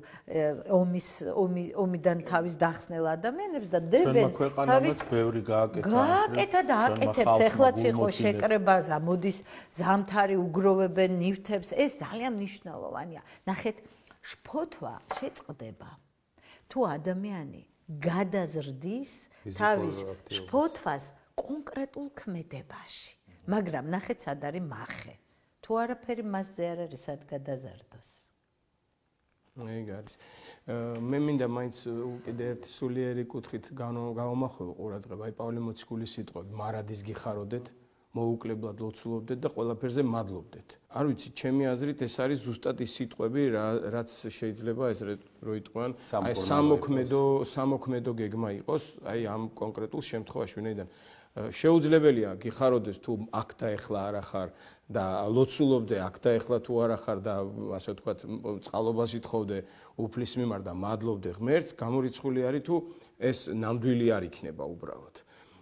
ომიდან თავის დახსნელ ადამიანებს და დებენ თავის ბევრი გააკეთა და აკეთებს. ეხლაც იყო შეკრება, მოდის ზამთარი, უგროვებენ ნივთებს. ეს ძალიან მნიშვნელოვანია. ნახეთ, შფოთვა შეწყდება თუ ადამიანი გადაზრდის თავის შფოთვას კონკრეტულ ქმედებაში. მაგრამ ნახეთ, სად არის მახე. თუ არაფერი მასზე არ არის, სად გადაზარდოს. ეგ არის. მე მინდა მაინც კიდე ერთი სულიერი კუთხით გავამახვილო ყურადღება. აი პავლე მოციქულის სიტყვები, მარადის გიხაროდეთ, მოუკლებლად ლოცულობდეთ და ყველაფერზე მადლობდეთ. არ ვიცი, ჩემი აზრით ეს არის ზუსტად ის სიტყვები, რაც შეიძლება ეს რო იტყვიან, აი სამოქმედო გეგმა იყოს, აი ამ კონკრეტულ შემთხვევაში, ვინაიდან შეუძლებელია გიხაროდეს თუ აქ და ეხლა არ ახარ და ლოცულობდე აქ და ეხლა თუ არ ახარ და ასე ვთქვათ წყალობას ითხოვდე უფლის მიმართ და მადლობდე ღმერთს, გამორიცხული არის თუ ეს ნამდვილი არ იქნება უბრალოდ.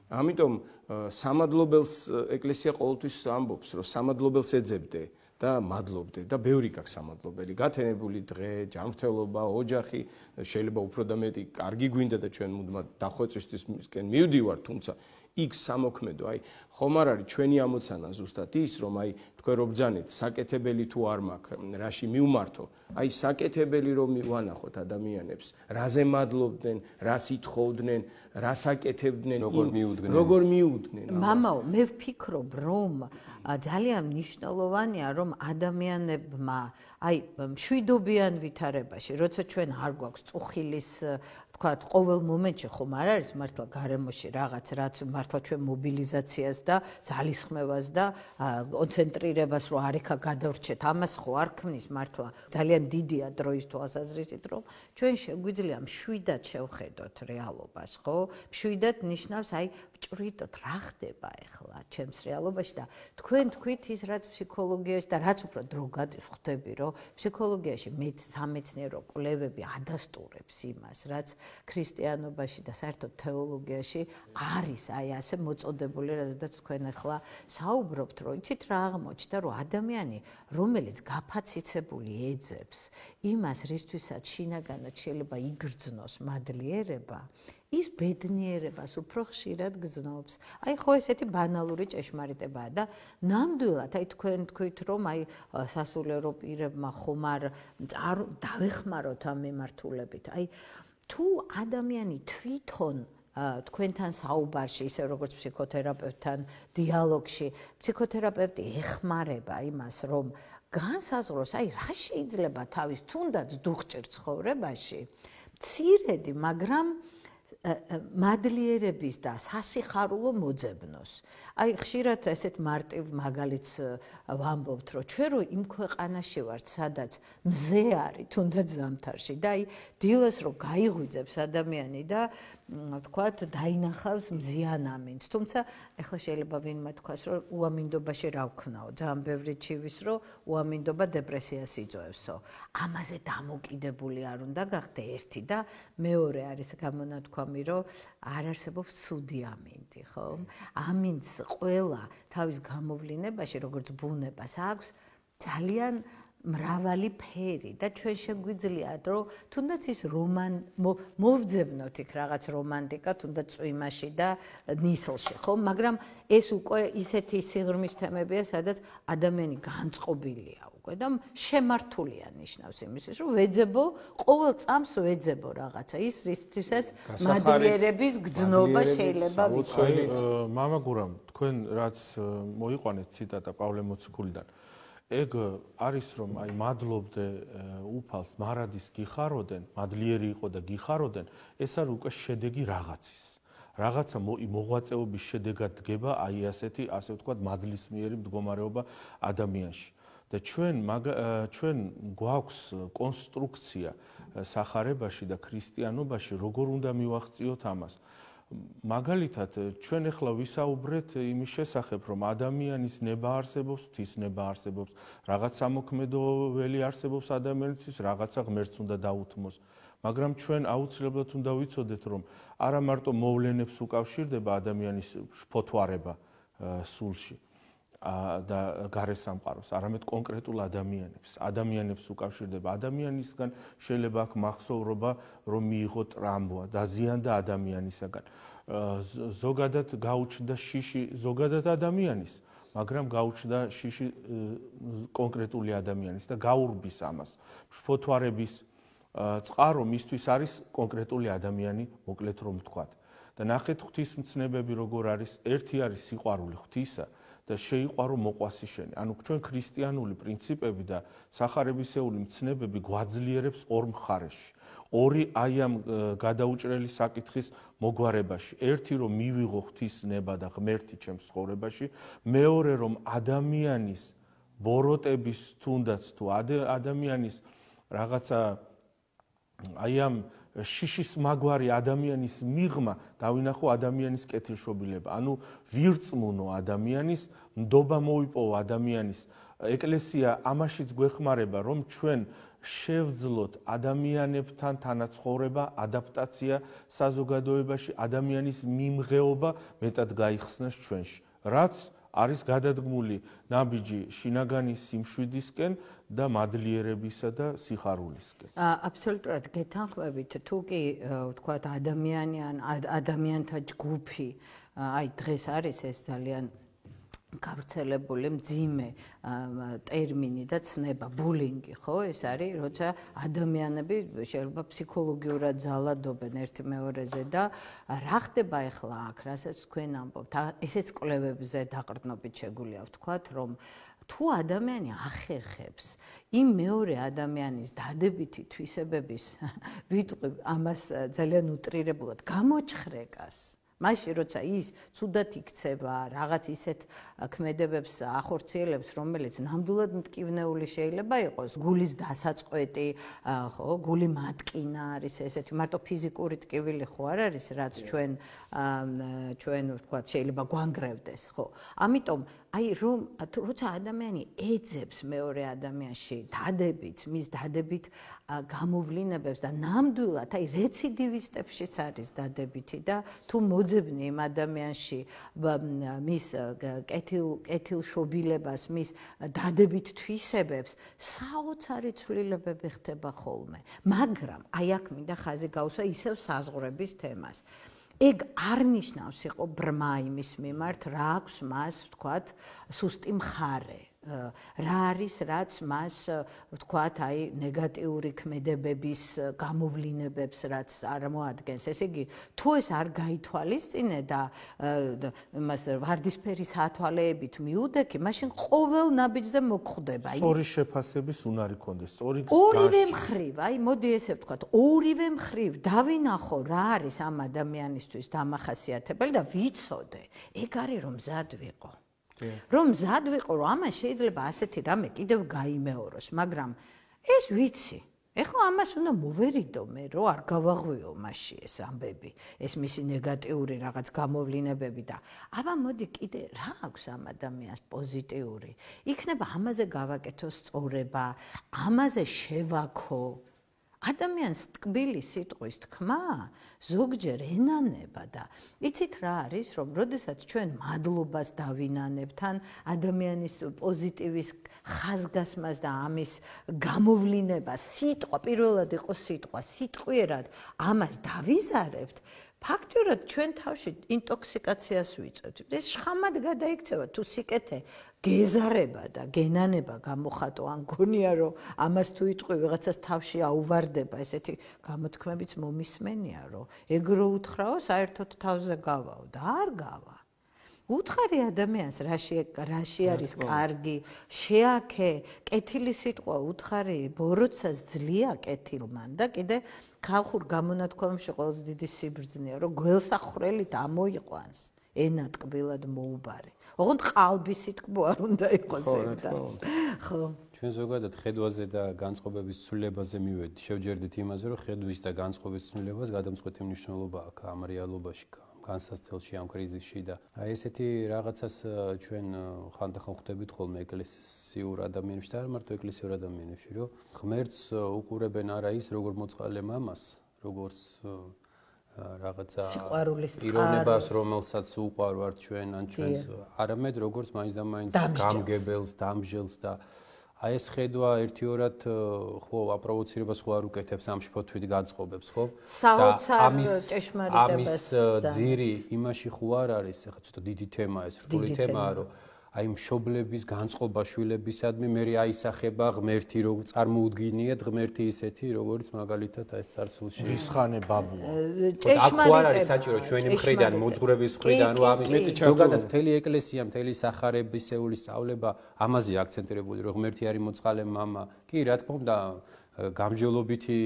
ამიტომ სამადლობელს ეკლესია ყოველთვის ამბობს, რომ სამადლობელს ეძებდე და მადლობდე და ბევრი გაქვს სამადლობელი. გათენებული დღე, ჯანმრთელობა, ოჯახი, შეიძლება უფრო და მეტი კარგი გვინდა და ჩვენ მუდმივად დახვეწვისთვისკენ მივდივართ, თუმცა იქ სამოქმედო, აი, ხომ არ არის ჩვენი ამოცანა ზუსტად ის, რომ აი თქვენ რო ბრძანეთ, საკეთებელი თუ არ მაქვს, რაში მივმართო, აი საკეთებელი რომ მივანახოთ ადამიანებს, რაზე მადლობდნენ, რას ითხოვდნენ, რას აკეთებდნენ, როგორ მიუდგნენ. მამაო, მე ვფიქრობ, რომ ძალიან მნიშვნელოვანია, რომ ადამიანებმა აი მშვიდობიან ვითარებაში, როცა ჩვენ არ გვაქვს წუხილის თქვათ, ყოველ მომენტში ხომ არ არის მართლა გარემოში რაღაც, რაც მართლა ჩვენ მობილიზაციას და ძალისხმევას და კონცენტრირებას რო არიქა გადავრჩეთ, ამას ხო არ ქმნის მართლა. ძალიან დიდია დროის თვალსაზრისით, რომ ჩვენ შეგვიძლია მშვიდად შევხედოთ რეალობას, ხო? მშვიდად ნიშნავს აი ვჭვრიტოთ რა ხდება ახლა ჩემს რეალობაში და თქვენ თქვით ის რაც ფსიქოლოგიაში და რაც უფრო დრო გადის ხვდები, რომ ფსიქოლოგიაში სამეცნიერო კვლევები ადასტურებს იმას, რაც ქრისტიანობაში და საერთოდ თეოლოგიაში არის აი ასე მოწოდებული, რადგან თქვენ ახლა საუბრობთ, რომ იცით რა აღმოჩნდა, რომ ადამიანი, რომელიც გაფაციცებული ეძებს იმას, რისთვისაც შინაგანად შეიძლება იგრძნოს მადლიერება, ის ბედნიერებას უფრო ხშირად გრძნობს. აი ხო ესეთი ბანალური ჭეშმარიტებაა და ნამდვილად აი თქვენ თქვით, რომ აი სასულიერო პირებმა ხომ არ დავეხმაროთ ამ მიმართულებით. აი თუ ადამიანი თვითონ თქვენთან საუბარში, ისე როგორც ფსიქოთერაპევტთან დიალოგში, ფსიქოთერაპევტი ეხმარება იმას, რომ განსაზღვროს, აი რა შეიძლება თავის თუნდაც დუხჭირ ცხოვრებაში, მცირედი, მაგრამ მადლიერების და სასიხარულო მოძებნოს. აი ხშირად ესეთ მარტივ მაგალითს ვამბობთ, რომ ჩვენ რო იმ ქვეყანაში ვართ, სადაც მზე არის, თუნდაც ზამთარში და აი დილას რო გაიღვიძებს ადამიანი და თქვათ დაინახავს მზიან ამინდს. თუმცა ეხლა შეიძლება ვინმე თქვას, რომ უამინდობაში რა ვქნაო, ძალიან ბევრი ჩივის, რომ უამინდობა დეპრესიას იწვევსო. ამაზე დამოკიდებული არ უნდა გახდე ერთი და მეორე არის გამონათქვამი, რომ არ არსებობს ცუდი ამინდი, ხო? ამინდს ყველა თავის გამოვლინებაში, როგორც ბუნებას აქვს, ძალიან მრავალი ფერი და ჩვენ შეგვიძლია რომ თუნდაც ის მოვძებნოთ იქ რაღაც რომანტიკა თუნდაც წვიმაში და ნისლში ხო მაგრამ ეს უკვე ისეთი სიღრმის თემებია სადაც ადამიანი განწყობილია უკვე და შემართულია ნიშნავს იმისთვის რომ ვეძებო ყოველ წამს ვეძებო რაღაცა ის რისთვისაც მადლიერების გრძნობა შეიძლება ვიცოდეთ მამა გურამ თქვენ რაც მოიყვანეთ ციტატა პავლე მოციქულიდან ეგ არის რომ აი მადლობდე უფალს მარადის გიხაროდენ, მადლიერი იყო და გიხაროდენ, ეს არის უკვე შედეგი რაღაცის. რაღაცა მოღვაწეობის შედეგად დგება აი ასეთი, ასე ვთქვათ, მადლისმიერი მდგომარეობა ადამიანში. და ჩვენ გვაქვს კონსტრუქცია სახარებაში და ქრისტიანობაში, როგორ უნდა მივახციოთ ამას. მაგალითად, ჩვენ ახლა ვისაუბრეთ იმის შესახებ, რომ ადამიანის ნება არსებობს, ღვთის ნება არსებობს, რაღაც სამოქმედოველი არსებობს ადამიანისთვის, რაღაცა ღმერთს უნდა დაუთმოს. მაგრამ ჩვენ აუცილებლად უნდა ვიცოდეთ, რომ არა მარტო მოვლენებს უკავშირდება ადამიანის შფოთვარება სულში და გარესამყაროს, არამედ კონკრეტულ ადამიანებს უკავშირდება. ადამიანისგან შეიძლება აქ მახსოვრობა, რომ მიიღო ტრამვა, დაზიანდა ადამიანისაგან. ზოგადად გაუჩნდა შიში ზოგადად ადამიანის, მაგრამ გაუჩნდა შიში კონკრეტული ადამიანის და გაურბის ამას. შფოთვარების წყარო მისთვის არის კონკრეტული ადამიანი, მოკლედ რომ ვთქვათ. და ნახეთ ღვთისმცნებები როგორ არის, ერთი არის სიყვარული ღვთისა და შეიყვარო მოყვასი შენი. ანუ ჩვენ ქრისტიანული პრინციპები და სახარებისეული მცნებები გვაძლიერებს ორ მხარეში. ორი აი ამ გადაუჭრელი საკითხის მოგვარებაში. ერთი რომ მივიღო ღვთის ნება და ღმერთი ჩემს ცხოვრებაში, მეორე რომ ადამიანის ბოროტების თუნდაც თუ ადამიანის რაღაცა აი ამ შიშის მაგვარი ადამიანის მიღმა დავინახო ადამიანის კეთილშობილება. ანუ ვირწმუნო ადამიანის, ნდობა მოიპოვა ადამიანის. ეკლესია ამაშიც გვეხმარება, რომ ჩვენ შევძლოთ ადამიანებთან თანაცხოვრება, ადაპტაცია საზოგადოებაში, ადამიანის მიმღეობა მეტად გაიხსნას ჩვენში. რაც არის გადადგმული ნაბიჯი შინაგანი სიმშვიდისკენ და მადლიერებისა და სიხარულისკენ. აბსოლუტურად გეთანხმებით, თუ კი ვთქვათ ადამიანი ან ადამიანთა ჯგუფი, აი დღეს არის ეს ძალიან გავრცელებული მძიმე ტერმინი და ცნება ბულინგი, ხო? ეს არის, როცა ადამიანები შეიძლება ფსიქოლოგიურად ძალადობენ ერთი მეორეზე და რა ხდება ახლა აქ, რასაც თქვენ ამბობთ, ესეც კვლევებზე დაყრდნობით შეგვიძლია ვთქვათ, რომ თუ ადამიანი ახერხებს იმ მეორე ადამიანის დადებითი თვისებების ვიტყვი ამას ძალიან უტრირებულად გამოჩხრეკას, მაშინ როცა ის ცუდად იქცევა, რაღაც ისეთ ქმედებებს ახორციელებს, რომელიც ნამდვილად მტკივნეული შეიძლება იყოს, გულის დასაწყვეტი, ხო, გული მატკინა არის ესეთი, მარტო ფიზიკური ტკივილი ხო არ არის, რაც ჩვენ ვთქვათ, შეიძლება გვანგრევდეს, ხო. ამიტომ აი რომ როცა ადამიანი ეძებს მეორე ადამიანში დადებითს, მის დადებით გამოვლინებებს და ნამდვილად აი რეციდივისტებშიც არის დადებითი და თუ მოძებნი იმ ადამიანში მის კეთილშობილებას, მის დადებით თვისებებს, საოცარი ცვლილებები ხდება ხოლმე. მაგრამ აი აქ მინდა ხაზი გავუსვა ისევ საზღვრების თემას. ეგ არ ნიშნავს იყო ბრმა იმის მიმართ, რა აქვს მას, ვთქვათ, სუსტი მხარე. რა არის, რაც მას, ვთქვათ, აი ნეგატიური ქმედებების გამოვლინებებს, რაც წარმოადგენს. ესე იგი, თუ ეს არ გაითვალისწინე და იმას ვარდისფერი სათვალეებით მიუდექი, მაშინ ყოველ ნაბიჯზე მოგხვდება. სწორი შეფასების უნარი კონდეს, სწორი ორივე მხრივ, აი მოდი ესე ვთქვათ, ორივე მხრივ დავინახო რა არის ამ ადამიანისთვის დამახასიათებელი და ვიცოდე. ეგ არის რომ მზად ვიყო. რომ მზად ვიყო, რომ ამას შეიძლება ასეთი რამე კიდევ გაიმეოროს, მაგრამ ეს ვიცი. ეხლა ამას უნდა მოვერიდო მე, რომ არ გავაღვიო მასში ეს ამბები, ეს მისი ნეგატიური რაღაც გამოვლინებები და აბა მოდი კიდე რა აქვს ამ ადამიანს პოზიტიური. იქნება ამაზე გავაკეთო სწორება, ამაზე შევაქო. ადამიანს ტკბილი სიტყვის თქმა ზოგჯერ ენანება და იცით რა არის, რომ როდესაც ჩვენ მადლობას დავინანებთ ან ადამიანის პოზიტივის ხაზგასმას და ამის გამოვლინებას, სიტყვა პირველად იყო სიტყვა, სიტყვიერად ამას დავიზარებთ, ფაქტიურად ჩვენ თავში ინტოქსიკაციას ვიწევთ. ეს შხამად გადაიქცევა თუ სიკეთე გეზარება და გენანება გამოხატო ან გონია რომ ამას თუ იტყვი ვიღაცას თავში აუვარდება, ესეთი გამოთქმებიც მომისმენია რომ ეგრო უთხრაო საერთოდ თავზე გავაო და არ გავა. უთხარი ადამიანს რაში არის კარგი, შეაქე, კეთილი სიტყვა უთხარი, ბოროტსას ძლია კეთილმან და კიდე ხალხურ გამონათქვამში ყველაზე დიდი სიბრძნეა, რომ გველსახვრელით ამოიყვანს, ენა ტკბილად მოუბარე. ოღონდ ყალბი სიტყვა არ უნდა იყოს ეგ და. ხო. ჩვენ ზოგადად ხედვაზე და განწყობების ცვლილებაზე მივედით. შევჯერდით იმაზე, რომ ხედვის და განწყობის ცვლილებას გადამწყვეტი მნიშვნელობა აქვს ამ რეალობაში, განსასწრელში, ამ კრიზისში და აი ესეთი რაღაცას ჩვენ ხანდახან ხვდებით ხოლმე ეკლესიურ ადამიანებში და არ მარტო ეკლესიურ ადამიანებში, რომ ღმერთს უყურებენ არა ის, როგორ მოწყალე მამას, როგორც რაღაცა ირონებას, რომელსაც უყვარვართ ჩვენ ან ჩვენს, არამედ როგორც მაინც და მაინც გამგებელს, დამსჯელს და აი ეს ხედვა ერთიორად ხო აპროვოცირებას ხო არ უკეთებს ამ შფოთვით განწყობებს, ხო? ამის ძირი იმაში ხო არ არის, ეხლა ცოტა დიდი თემაა ეს, რთული თემაა, რომ აი მშობლების განწყობა შვილებისადმი მე აისახება ღმერთი, რომ წარმოუდგინიათ ღმერთი ისეთი, როგორც მაგალითად აი ეს царსულში რისხანე ბაბუა. აქ ხო არ არის საჭირო ჩვენი მხრიდან, მოძღვრების მხრიდან, რომ ამის ზოგადად მთელი ეკლესია, მთელი სახარებისეული სწავლება ამაზე აქცენტირებული, რომ ღმერთი არის მოწყალე მამა. კი, რა თქმა უნდა, გამჯელობითი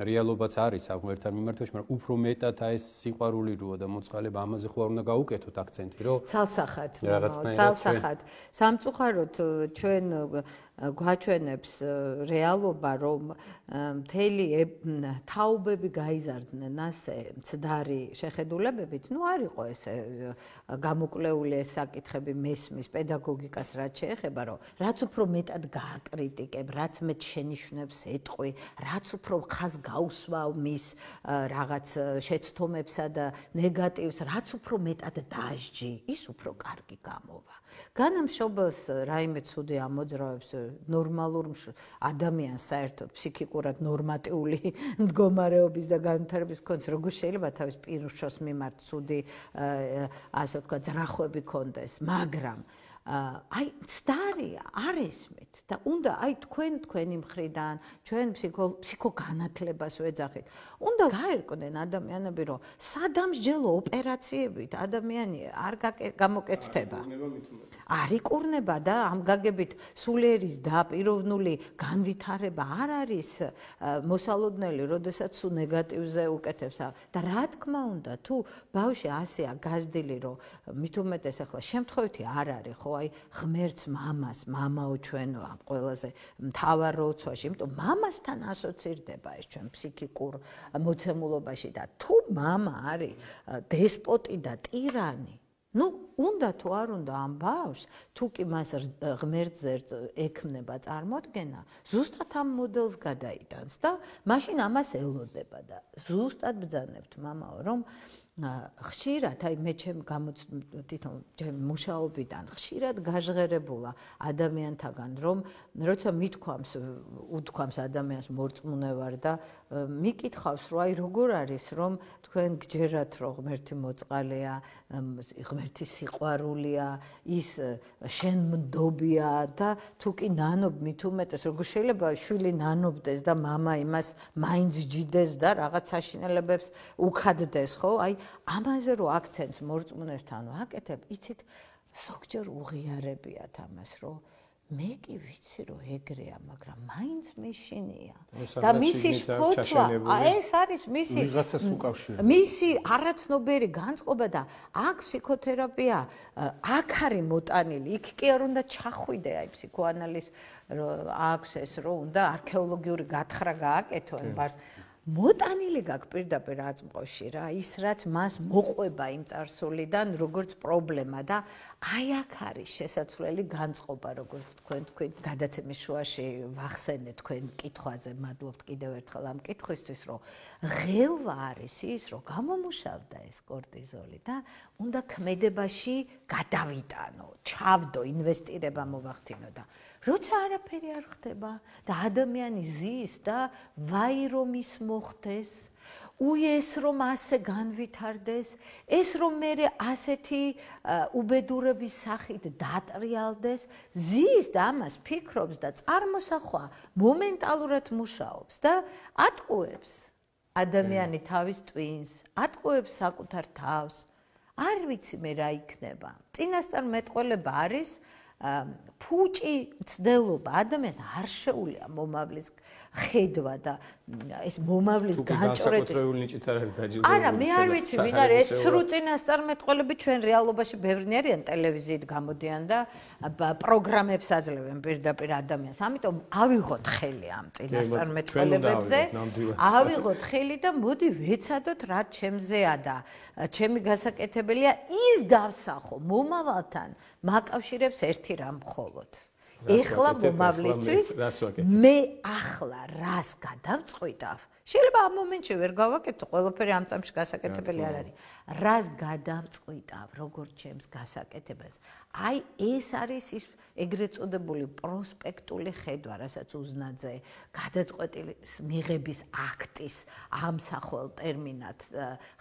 რეალობაც არის ამ ღმერთთან მიმართებაში, მაგრამ უფრო მეტად აი ეს სიყვარული როა და მოწყალება ამაზე ხო არ უნდა გაუკეთოთ აქცენტი, რომ ცალსახად, ცალსახად. სამწუხაროდ ჩვენ გვაჩვენებს რეალობა, რომ მთელი თაობები გაიზარდნენ ასე მცდარი შეხედულებებით, ნუ არ იყო ესე გამოკვლეული ეს საკითხები მესმის პედაგოგიკას რაც შეეხება, რომ რაც უფრო მეტად გააკრიტიკებ, რაც მეტ შენიშვნებს ეტყობ სიტყვი, რაც უფრო ხაზ გაუსვავ მის რაღაც შეცდომებსა და ნეგატივს, რაც უფრო მეტად დაждჯი, ის უფრო კარგი გამოვა. განამშობელს რაიმე ცუდი ამოძრავებს ნორმალურ ადამიანს საერთოდ ფსიქიკურად ნორმატიული მდგომარეობის და განვითარების კონც როგორ შეიძლება თავის პირუშოს მიმართ ცუდი ასე ვთქვა ძრახვები კონდეს, მაგრამ აი ცდარია არ ესმით და უნდა აი თქვენი მხრიდან ჩვენ ფსიქოგანათლებას ვეძახით. უნდა გაერკვნენ ადამიანები, რომ სადამსჯელო ოპერაციებით ადამიანი არ გამოკეთდება. არ იკურნება და ამ გაგებით სულიერის და პიროვნული განვითარება არ არის მოსალოდნელი, როდესაც სულ ნეგატივზე უკეთებს. და რა თქმა უნდა, თუ ბავშვი ასეა გაზრდილი, რომ მით უმეტეს ახლა შემთხვევითი არ არის, ხო, აი ღმერთს მამას, მამაო ჩვენო ამ ყველაზე მთავარ როლში, იმიტომ მამასთან ასოცირდება ეს ჩვენ ფსიქიკურ მოცემულობაში და თუ მამა არის დესპოტი და ტირანი, ну, უნდა თუ არ უნდა ამ ბავშვს, თუ კი მას ღმერთზე ექმნება წარმოდგენა, ზუსტად ამ მოდელს გადაიტანს და მაშინ ამას ელოდება და ზუსტად ბრძანებთ მამაო, რომ ხშირად, აი მე თვითონ ჩემ მუშაობიდან ხშირად გაჟღერებულა ადამიანთაგან, რომ როცა უთქვამს ადამიანს მორწმუნე ვარ და მიკითხავს, რომ აი როგორ არის, რომ თქვენ გჯერათ, რომ ღმერთი მოწყალეა, ღმერთი სიყვარულია, ის შენმდობია და თუ კი ნანობ მით უმეტეს, როგორ შეიძლება შვილი ნანობდეს და მამა იმას მაინც ჯიდეს და რაღაც საშინელებებს უქადდეს, ხო? აი ამაზე რო აქცენტს მორწმუნესთან ვაკეთებ, იცით, ზოგჯერ უღიარებიათ ამას, რომ მე კი ვიცი, რომ ეგრეა, მაგრამ მაინც მეშინია. და მისი შფოთვა, ეს არის ვიღაცას უკავშირდება. მისი არაცნობერი განწყობა და აქ ფსიქოთერაპია, აქ არის მოტანილი, იქ კი არ უნდა ჩახვიდე, აი ფსიქოანალიზ აქვს ეს, რომ უნდა არქეოლოგიური გათხრა გააკეთო ამ ბარს. მოტანილი გაქვს პირდაპირ აწმყოში რა, ის რაც მას მოყვება იმ წარსულიდან, როგორც პრობლემა და აი აქ არის შესაძლებელი განწყობა, როგორც თქვენ თქვით, გადაცემის შუაში ვახსენეთ თქვენ კითხვაზე, მადლობთ კიდევ ერთხელ ამ კითხვისთვის, რომ ღელვა არის ის, რომ გამომუშავდა ეს კორტიზოლი და უნდა ქმედებაში გადავიტანო, ჩავდო, ინვესტირება მოვახდინო და როცა არაფერი არ ხდება და ადამიანი ზის და ვაი რომ ის მოხდეს, უეს რომ ასე განვითარდეს, ეს რომ მე ასეთი უბედურების სახით დატრიალდეს, ზის და ამას ფიქრობს და წარმოსახვა მომენტალურად მუშაობს და ატყუებს ადამიანი თავის ტვინს, ატყუებს საკუთარ თავს. არ ვიცი მე რა იქნება. წინასწარ მეტყველება არის ფუჭი ცდელობა ადამიანს არ შეუძლია მომავლის ხედვა და ეს მომავლის განჭრედი ნიჭით არ არის დაჯილდოებული. არა, მე არ ვიცი, ვინ არის ეს ცრუ წინასწარმეტყველები ჩვენ რეალობაში ბევრი არიან ტელევიზიით გამოდიან და პროგრამებს აძლევენ პირდაპირ ადამიანს. ამიტომ ავიღოთ ხელი ამ წინასწარმეტყველებებზე. ავიღოთ ხელი და მოდი ვეცადოთ რა ჩემზეა და ჩემი გასაკეთებელია ის დავსახო მომავალთან მაკავშირებს ერთი რამ მხოლოდ. ეხლა მომავლისთვის მე ახლა რას გადავწყვიტავ? შეიძლება ამ მომენტში ვერ გავაკეთო, ყველაფერი ამ წამში გასაკეთებელი არ არის. რას გადავწყვიტავ, როგორც ჩემს გასაკეთებას? აი ეს არის ის ეგრეთ წოდებული პროსპექტული ხედვა, რასაც უზნაძე გადაწყვეტილის მიღების აქტის ამსახველ ტერმინად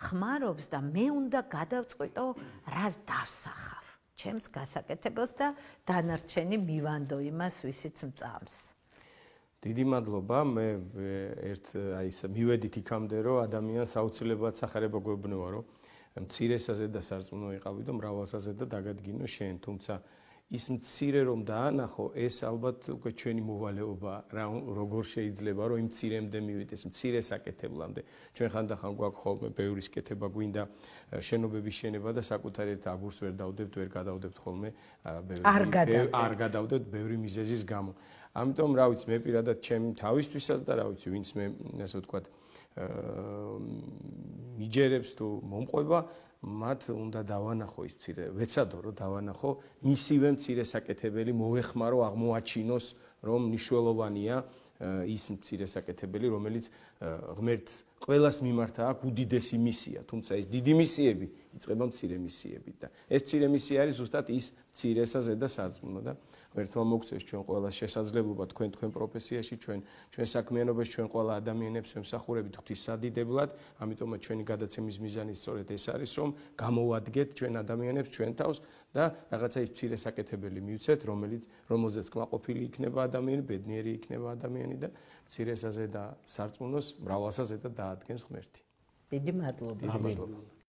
ხმარობს და მე უნდა გადავწყვიტო, რას დავსახავ ჩემს გასაკეთებელს და დანარჩენი მივანდო იმას, ვისიც მწამს. დიდი მადლობა. მე აი ეს მივედით იქამდე, რომ ადამიანს აუცილებლად სახარება გვეუბნება, რომ მცირესაზე და სარწმუნო იყავი და მრავალსაზე და დაგადგინო შენ, თუმცა ის მცირე რომ დაანახო, ეს ალბათ უკვე ჩვენი მოვალეობა, როგორ შეიძლება რომ იმ მცირემდე მივიდეს, მცირე საკეთებლამდე. ჩვენ ხანდახან გვაქვს ხოლმე ბევრი სკეთება გვინდა შენობების შენება და საკუთარ ერთ აგურს ვერ დავდებთ, ვერ გადავდებთ ხოლმე, არ გადავდებთ ბევრი მიზეზის გამო. ამიტომ რა ვიცი, მე პირადად ჩემი თავისთვისაც და რა ვიცი, ვინც მე ასე ვთქვათ, მიჯერებს თუ მომყვება, მათ უნდა დავანახო ის მცირე, ვეცადო რომ დავანახო მისივე მცირე საკეთებელი, მოეხმარო, აღმოაჩინოს, რომ მნიშვნელოვანია ის მცირე საკეთებელი, რომელიც ღმერთს ყველას მიმართა აქვს უდიდესი მისია, თუმცა ეს დიდი მისიები იწყება მცირე მისიებით და ეს მცირე მისია არის ზუსტად ის მცირესა ზედა სარწმუნო და ღმერთმა მოგცეს ჩვენ ყველას შესაძლებლობა თქვენ პროფესიაში, ჩვენ საქმიანობაში, ჩვენ ყველა ადამიანებს ვემსახურებით ღვთის სადიდებლად, ამიტომაც ჩვენი გადაცემის მიზანი სწორედ ეს არის, რომ გამოვადგეთ ჩვენ ადამიანებს ჩვენ თავს და რაღაცა ის მცირე საკეთებელი მივცეთ, რომელზეც კმაყოფილი იქნება ადამიანი, ბედნიერი იქნება ადამიანი და მცირესაზე და სარწმუნოს მრავალსაზე და დაადგენს ღმერთი. დიდი მადლობა. ამინ.